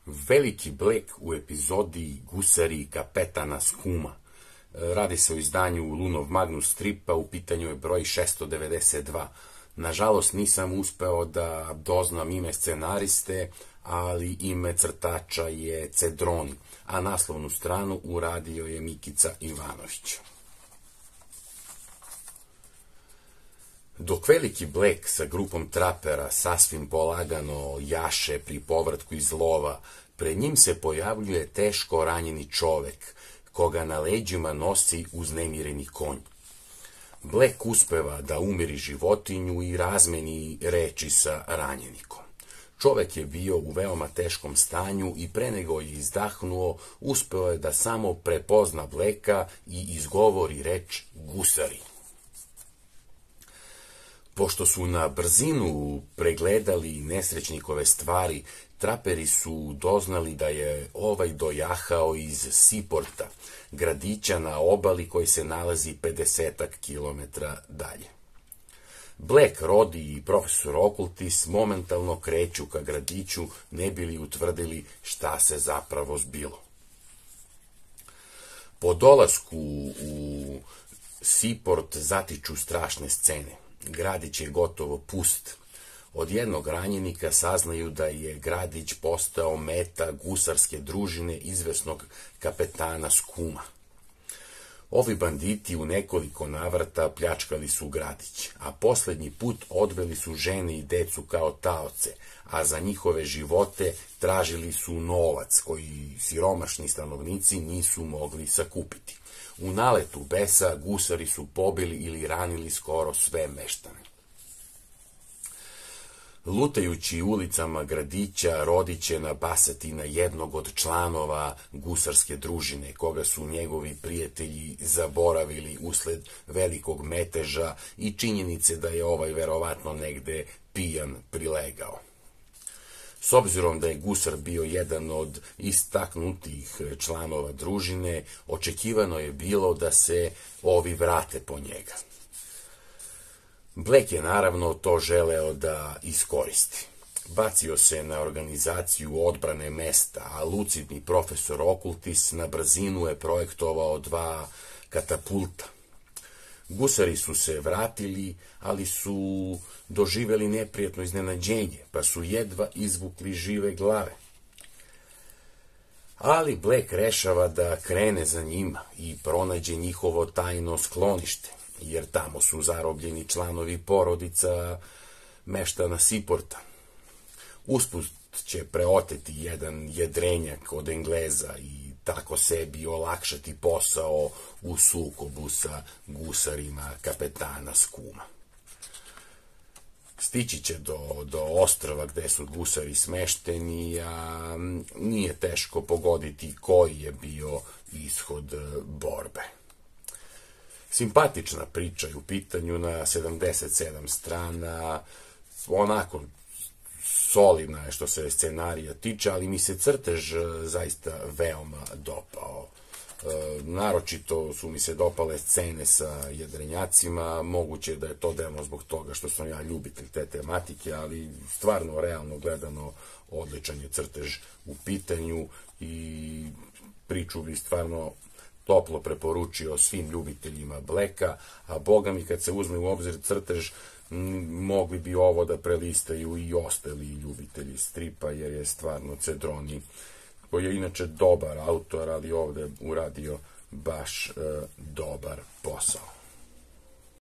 Veliki Black u epizodi Gusari kapetana Skuma. Radi se o izdanju Lunov Magnus stripa, u pitanju je broj 692. Nažalost nisam uspeo da doznam ime scenariste, ali ime crtača je Cedroni, a naslovnu stranu uradio je Mikica Ivanović. Dok Veliki Black sa grupom trapera sasvim polagano jaše pri povratku iz lova, pred njim se pojavljuje teško ranjeni čovek, koga na leđima nosi uznemireni konj. Black uspeva da umiri životinju i razmeni reči sa ranjenikom. Čovek je bio u veoma teškom stanju i pre nego je izdahnuo, uspeo je da samo prepozna Blacka i izgovori reč gusari. Pošto su na brzinu pregledali nesrećnikove stvari, traperi su doznali da je ovaj dojahao iz Seaporta, gradića na obali koji se nalazi 50 kilometara dalje. Black, Rodi i profesor Okultis momentalno kreću ka gradiću, ne bili utvrdili šta se zapravo zbilo. Po dolasku u Seaport zatiču strašne scene. Gradić je gotovo pust. Od jednog ranjenika saznaju da je gradić postao meta gusarske družine izvesnog kapetana Skuma. Ovi banditi u nekoliko navrata pljačkali su gradić, a poslednji put odveli su žene i decu kao taoce, a za njihove živote tražili su novac koji siromašni stanovnici nisu mogli sakupiti. U naletu besa gusari su pobili ili ranili skoro sve meštane. Lutajući ulicama gradića, Rodi će nabasati na jednog od članova gusarske družine, koga su njegovi prijatelji zaboravili usled velikog meteža i činjenice da je ovaj verovatno negde pijan prilegao. S obzirom da je gusar bio jedan od istaknutih članova družine, očekivano je bilo da se ovi vrate po njega. Black je naravno to želeo da iskoristi. Bacio se na organizaciju odbrane mesta, a lucidni profesor Okultis na brzinu je projektovao 2 katapulta. Gusari su se vratili, ali su doživeli neprijatno iznenađenje, pa su jedva izvukli žive glave. Ali Black rešava da krene za njima i pronađe njihovo tajno sklonište, jer tamo su zarobljeni članovi porodica meštana Seaporta. Usput će preoteti jedan jedrenjak od Engleza i tako sebi olakšati posao u sukobu sa gusarima kapetana Skuma. Stići će do ostrva gde su gusari smešteni, a nije teško pogoditi koji je bio ishod borbe. Simpatična priča je u pitanju na 77 strana, onako solidna je što se scenarija tiče, ali mi se crtež zaista veoma dopao. Naročito su mi se dopale scene sa jedrenjacima, moguće da je to delno zbog toga što sam ja ljubitelj te tematike, ali stvarno, realno gledano, odličan je crtež u pitanju i priču bi stvarno toplo preporučio svim ljubiteljima Blacka, a boga mi kad se uzme u obzir crtež, mogli bi ovo da prelistaju i ostali ljubitelji stripa, jer je stvarno Cedroni, koji je inače dobar autor, ali ovde uradio baš